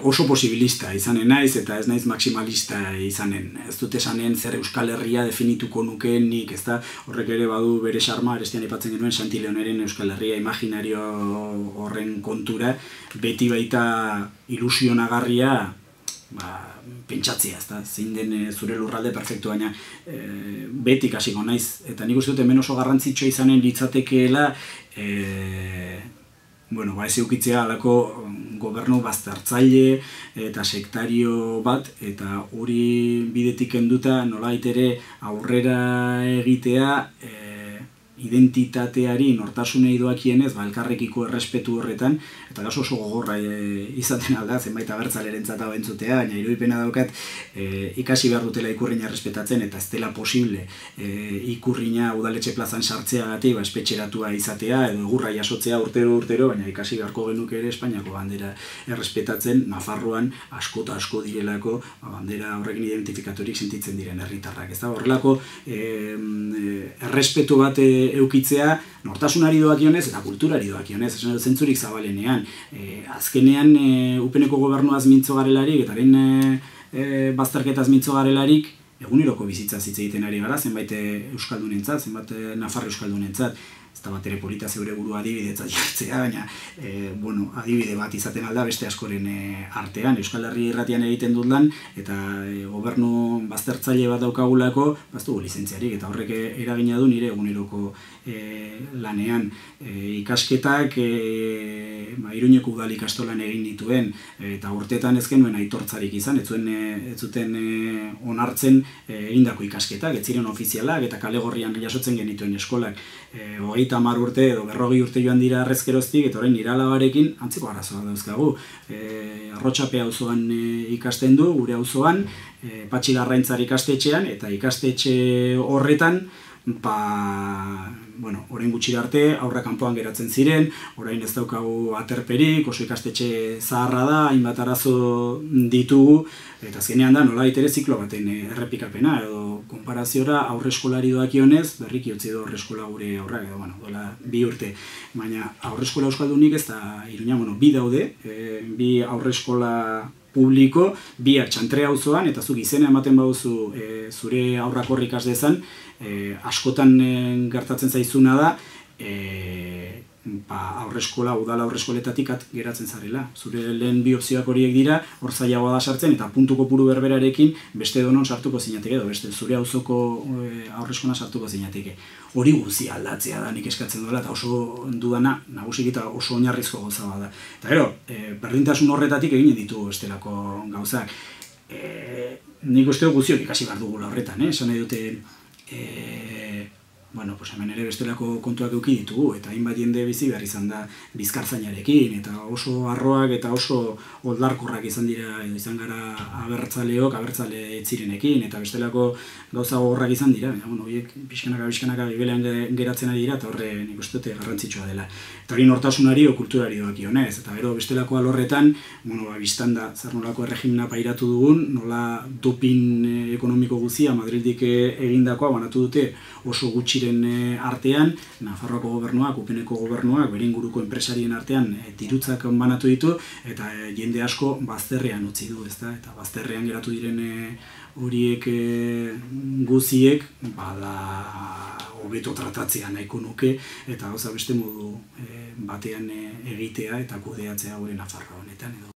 oso posibilista izanen naiz eta ez naiz maximalista izanen. Ez dut esanen zer Euskal Herria definituko nukeen nik, ez da, horrek ere badu bere xarma, arestian aipatzen genuen Santi Leoneren Euskal Herria imaginario horren kontura, beti baita ilusionagarria pentsatzea, ez da, zein den zure lurralde perfektu, baina beti kasiko naiz, eta nik uste dut hemen oso garrantzitsua izanen litzatekeela ez eukitzea halako gobernu baztertzaile eta sektario bat, eta hori bidetik kenduta nolabait ere aurrera egitea identitateari nortasunei doakienez, elkarrekiko errespetu horretan, eta oso gogorra izaten alda, zenbait abertzalerentzat hau entzutea, baina irudipena daukat ikasi behar dutela ikurrina errespetatzen, eta ez dela posible ikurrina udaletxe plazan sartzeagatik espetxeratua izatea, edo egurra jasotzea urtero, baina ikasi beharko genuke ere Espainiako bandera errespetatzen, Nafarroan asko eta asko direlako bandera horrekin identifikatorik sentitzen diren herritarrak. Ez da, horrelako errespetu bat eukitzea nortasunari doakionez eta kulturari doakionez, zentzurik zabalenean. Azkenean, upeneko gobernuaz mintzo garelarik, eta haren bazterketaz mintzo garelarik, eguneroko bizitza hitz egiten ari gara, zenbait euskaldunentzat, zenbait Nafar euskaldunentzat, ez da bat ere polita zeure burua adibidetzat jartzea, baina adibide bat izaten alda beste askoren artean. Euskal Herri irratian egiten dut lan, eta gobernu baztertzaile bat daukagulako, baztugu lizentziarik, eta horrek eragina du nire eguneroko lanean. Ikasketak Iruñeko udal ikastolan egin dituen, eta urteetan ez genuen aitortzarik izan, ez zuten onartzen egindako ikasketak, ez ziren ofizialak, eta kale gorrian jasotzen genituen eskolak. 30 urte edo 40 urte joan dira arrezkeroztik, eta orain nire alabarekin antzeko arazoak dauzkagu. Arrotxape auzoan ikasten du, gure auzoan, Patxi Larraintzar ikastetxean, eta ikastetxe horretan, orain gutxi arte, aurra kanpoan geratzen ziren, orain ez daukagu aterperik, oso ikastetxe zaharra da, hainbat arazo ditugu, eta azkenean da, nolabait ere ziklo baten errepikapena, edo konparaziora aurreskolari doakionez, berriki utzi edo aurreskola gure aurrak, edo, dola 2 urte, baina aurreskola euskaldunik ez da Iruña, bi daude, bi aurreskola publiko, biak Txantre auzoan, eta zuk izena ematen baduzu zure aurrak horrik has dezan, askotan gertatzen zaizuna da, udala aurreskoletatik geratzen zarela. Zure lehen bi opzioak horiek dira, hor zailagoa da sartzen, eta puntu kopuru berberarekin beste edonon sartuko zinateke, edo beste zure auzoko aurreskola sartuko zinateke. Hori guzia aldatzea da nik eskatzen duela, eta oso dudana, nagusik eta oso oinarrizko gauza bada. Eta gero, berdintasun horretatik egin ditugu bestelako gauzak. Nik uste guztiok ikasi behar dugula horretan, esan nahi dute, hemen ere bestelako kontuak eduki ditugu, eta hainbat jende bizi behar izan da bizkartzainarekin, eta oso harroak eta oso oldarkorrak izan dira, izan gara abertzale etzirenekin, eta bestelako gauza gogorrak izan dira, horiek pixkanaka gibelean geratzen ari dira, eta horre nik uste dute garrantzitsua dela. Eta hori nortasunari o kulturari doakionez, eta gero bestelako alorretan, biztan da, zer nolako erregimena pairatu dugun, nola dopin ekonomiko guzia Madrildik egindakoa banatu dute oso gutxiren artean, Nafarroako gobernuak, Upeneko gobernuak, bere inguruko enpresarien artean dirutzak banatu ditu, eta jende asko bazterrean utzi du, ezta? Eta bazterrean geratu diren horiek guziek, hobeto tratatzea nahiko nuke, eta gauza beste modu batean egitea eta kudeatzea gure Nafarroa honetan, edo